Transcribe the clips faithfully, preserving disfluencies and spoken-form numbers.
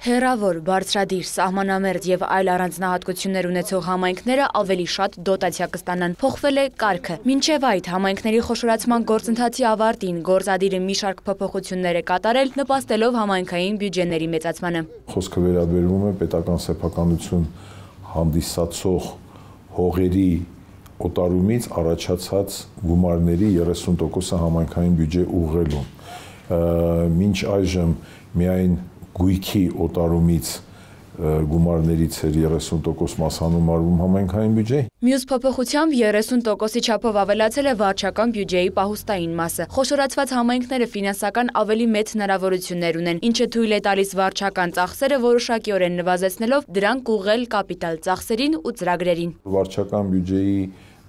Հեռավոր, բարձրադիր, սահմանամերձ եւ այլ առանձնահատկություններ ունեցող համայնքները ավելի շատ դոտացիա կստանան։ Փոխվել է կարգը։ Մինչև այդ համայնքների խոշորացման գործընթացի ավարտին գործադիրը մի շարք փոփոխություններ է կատարել, նպաստելով համայնքային բյուջեների մեծացմանը։ Խոսքը վերաբերում է պետական սեփականություն հանդիսացող հողերի օտարումից առաջացած գումարների երեսուն տոկոսը համայնքային բյուջե ուղղելուն։ Մինչ այժմ միայն գույքի օտարումից գումարներից էր երեսուն տոկոս մասանում արվում համայնքային բյուջեի։ Մյուս փոփոխությամբ երեսուն տոկոսի չափով ավելացել է վարչական բյուջեի պահուստային մասը։ Խոշորացված համայնքները ֆինանսական ավելի մեծ հնարավորություններ ունեն, ինչը թույլ է տալիս վարչական ծախսերը որոշակիորեն նվազեցնելով դրանք ուղղել կապիտալ ծախսերին ու ծրագրերին։ Վարչական բյուջեի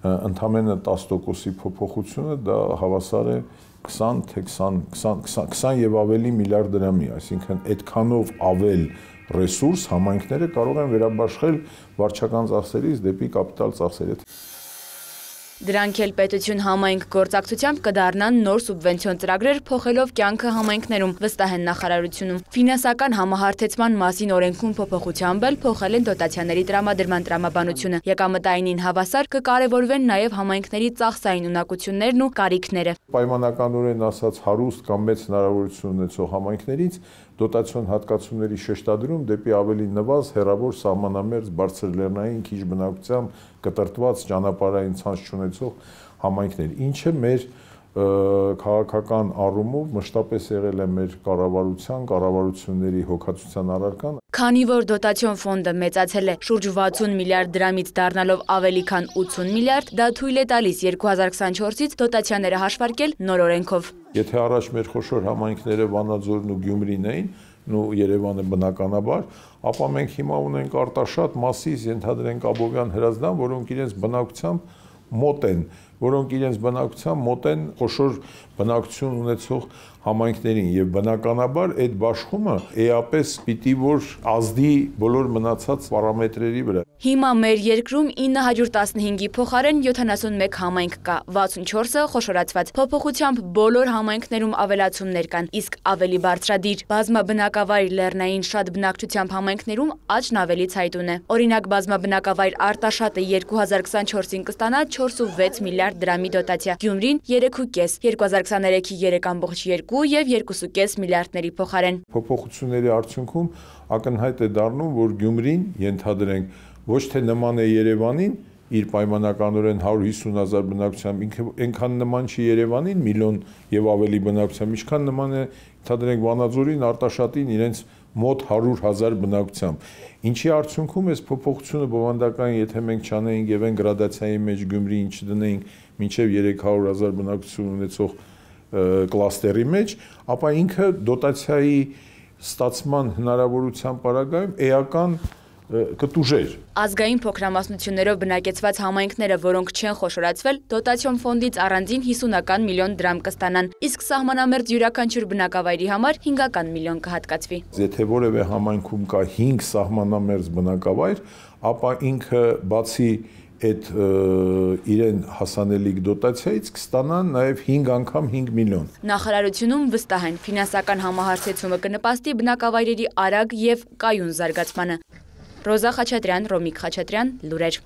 ընդամենը տասը տոկոսի փոփոխությունը դա հավասար է քսան թե քսան եւ ավելի միլիարդ դրամի, այսինքն այդքանով ավել ռեսուրս համայնքները կարող են վերաբաշխել վարչական ծախսերից դեպի կապիտալ ծախսեր։ Դրանք էլ պետություն համայնք գործակցությամբ կդառնան նոր սուբվենցիոն ծրագրեր փոխելով կյանքը համայնքներում, վստահ են նախարարությունում։ Ֆինանսական համահարթեցման մասին օրենքում փոփոխությամբ էլ փոխել են դոտացիաների տրամադրման տրամաբանությունը։ Եկամտայինին հավասար կկարևորվեն նաև համայնքների ծախսային ունակություններն ու կարիքները։ Պայմանականորեն ասած հարուստ կամ մեծ հնարավորություն ունեցող համայնքներից դոտացիոն հատկացումների շեշտադրում դեպի ավելի նվազ, հեռավոր, սահմանամերձ, բարձրլեռնային, քիչ բնակությամբ կտրտված ճանապարհային ցանց չունեցող համայնքներ, ինչը մեր քաղաքական առումով մշտապես եղել է մեր կառավարության, կառավարությունների հոգացության առարկան։ Քանի որ դոտացիոն ֆոնդը մեծացել է շուրջ վաթսուն միլիարդ դրամից դառնալով ավելի քան ութսուն միլիարդ, դա թույլ է տալիս երկու հազար քսանչորսից դոտացիաները հաշվարկել նոր օրենքով։ Եթե առաջ մեր խոշոր համայնքները Վանաձորն ու Գյումրին էին, ու Երևանը բնականաբար, ապա մենք հիմա ունենք Արտաշատ, Մասիս, ենթադրենք Աբովյան, Հրազդան, որոնք իրենց բնակությամբ մոտ են, որոնք իրենց բնակության մոտ են խոշոր բնակություն ունեցող համայնքներին եւ բնականաբար այդ բաշխումը էապես պիտի որ ազդի բոլոր մնացած պարամետրերի վրա։ Հիմա մեր երկրում ինը հարյուր տասնհինգի փոխարեն յոթանասունմեկ համայնք կա, վաթսունչորսը խոշորացված։ Փոփոխությամբ բոլոր համայնքներում ավելացումներ կան, իսկ ավելի բարձրադիր բազմաբնակավայր լեռնային շատ բնակչությամբ համայնքներում աճն ավելի ցայտուն է։ Օրինակ բազմաբնակավայր Արտաշատը երկու հազար քսանչորսին կստանա չորս ու վեց միլիարդ դրամի դոտացիա, Գյումրին երեք ու կես, երկու հազար քսաներեքի երեք ամբողջ երկու եւ երկու ու կես միլիարդների փոխարեն։ Փոփոխությունների արդյունքում ակնհայտ է դառնում, որ Գյումրին ենթադրենք ոչ թե նման է Երևանին, իր պայմանականորեն հարյուր հիսուն հազար բնակչությամբ, ինքը այնքան նման չի Երևանին, միլիոն եւ ավելի բնակչությամբ, ինչքան նման է ենթադրենք Վանաձորին, Արտաշատին իրենց մոտ հարյուր հազար բնակչությամբ։ Ինչի արդյունքում էս փոփոխությունը բովանդական, եթե մենք չանեինք եւ այն գրադացիայի մեջ Գյումրիին չդնեինք մինչեւ երեք հարյուր հազար բնակչություն ունեցող կլաստերի մեջ, ապա ինքը դոտացիայի ստացման հնարավորության պարագայում էական կտուժեր։ Ազգային փոքրամասնություններով բնակեցված համայնքները, որոնք չեն խոշորացվել, դոտացիոն ֆոնդից առանձին հիսունական միլիոն դրամ կստանան, իսկ սահմանամերձ յուրաքանչյուր բնակավայրի համար հինգական միլիոն կհատկացվի։ Եթե որևէ համայնքում կա հինգ սահմանամերձ բնակավայր, ապա ինքը բացի այդ իրեն հասանելիք դոտացիայից կստանան նաև հինգ անգամ հինգ միլիոն։ Նախարարությունում վստահ են, ֆինանսական համահարթեցումը կնպաստի բնակավայրերի արագ եւ կայուն զարգացմանը։ Ռոզա Խաչատրյան, Ռոմիկ Խաչատրյան, լուրեր։